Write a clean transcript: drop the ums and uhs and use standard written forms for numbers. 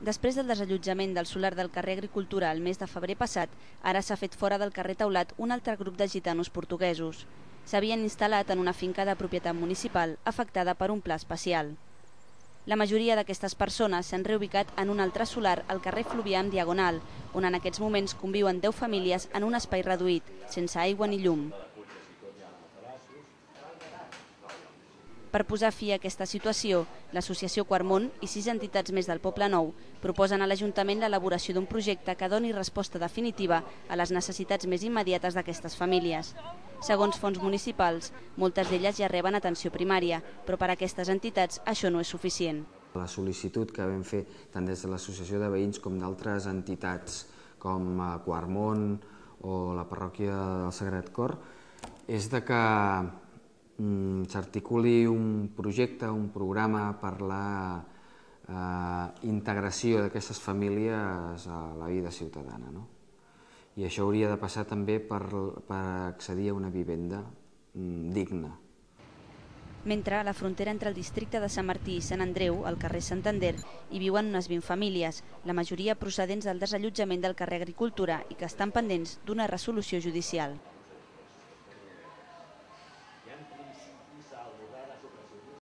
Després del desallotjament del solar del carrer Agricultura el mes de febrer passat, ara s'ha fet fora del carrer Taulat un altre grup de gitanos portuguesos. S'havien instal·lat en una finca de propietat municipal afectada per un pla especial. La majoria d'aquestes persones s'han reubicat en un altre solar al carrer Fluvià amb Diagonal, on en aquests moments conviuen 10 famílies en un espai reduït, sense aigua ni llum. Per posar fi a aquesta situació, l'associació Quart-Món i 6 entitats més del Poble Nou proposen a l'Ajuntament l'elaboració d'un projecte que doni resposta definitiva a les necessitats més immediates d'aquestes famílies. Segons fons municipals, moltes d'elles ja reben atenció primària, però per a aquestes entitats això no és suficient. La sol·licitud que vam fer tant des de l'Associació de Veïns com d'altres entitats com Quart-Món o la parròquia del Sagrat Cor és de que s'articuli un projecte, un programa per la integració d'aquestes famílies a la vida ciutadana. I això hauria de passar també per accedir a una vivenda digna. Mentre a la frontera entre el districte de Sant Martí i Sant Andreu, al carrer Santander, hi viuen unes 20 famílies, la majoria procedents del desallotjament del carrer Agricultura i que estan pendents d'una resolució judicial.